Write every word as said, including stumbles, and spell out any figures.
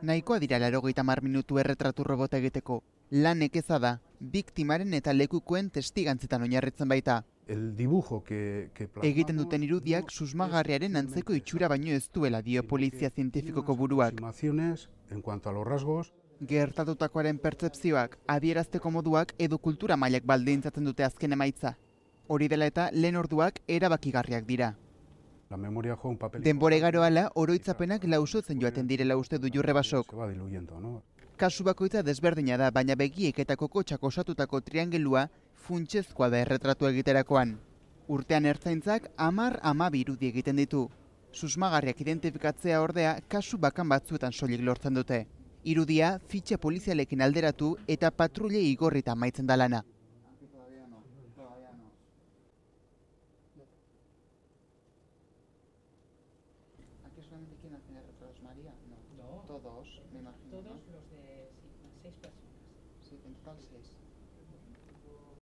Nahikoa dira laurogeita hamar minutu erretratu robota egiteko. Lan nekeza da, biktimaren eta lekukoen testigantzetan oinarritzen baita. El dibujo que, que plasmamos, Egiten duten irudiak susmagarriaren antzeko itxura baino ez duela dio polizia zientifikoko buruak. En cuanto a los rasgos, gertatutakoaren pertzepzioak, adierazteko moduak edo kultura mailak baldintzatzen dute azken emaitza. Hori dela eta lehen orduak erabakigarriak dira. la memoria juega un papel. Denbora igaro ala, oroitzapenak lausotzen joaten direla uste du Jurrebasok. Se va diluyendo, ¿no? Kasu bakoitza desberdina da, baina begiek eta kokotxak osatutako triangelua funtsezkoa da erretratu egiterakoan. Urtean ertzaintzak hamar hamabi irudi egiten ditu. Susmagarriak identifikatzea ordea kasu bakan batzuetan soilik lortzen dute. Irudia fitxa polizialekin alderatu eta patrulle igorrita amaitzen da lana. ¿Aquí solamente quién hace retratos, María? No. No. Todos, me imagino. Todos los de sí, seis personas. Sí, en total seis.